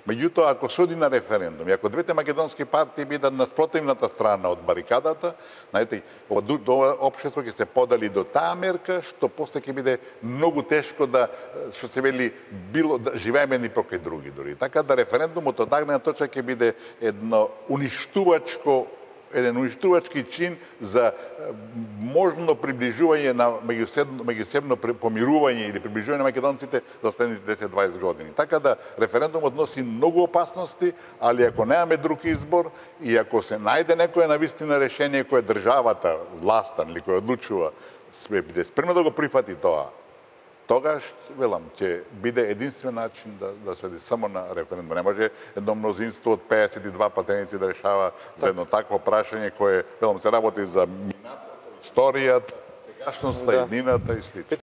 Меѓутоа, ако се оди на референдум и ако двете македонски партии бидат на спротивната страна од барикадата, знаете, ова општество ќе се подали до таа мерка, што после ќе биде многу тешко да, што се вели, било да живееме ни покрај други дури. Така да референдумот од дагна точка ќе биде еден уништувачки чин за можно приближување на меѓусебно помирување или приближување на македонците за следните 10-20 години. Така да референдумот носи многу опасности, али ако немаме друг избор и ако се најде некое навистина решение кое државата, власта или кој одлучува, биде спремно да го прифати тоа, тогаш, велам, ќе биде единствен начин да се оди само на референдум. Не може едно мнозинство од 52 пратеници да решава за едно такво прашање кое, велам, се работи за минатото, историјата, сегашноста, еднината и слично.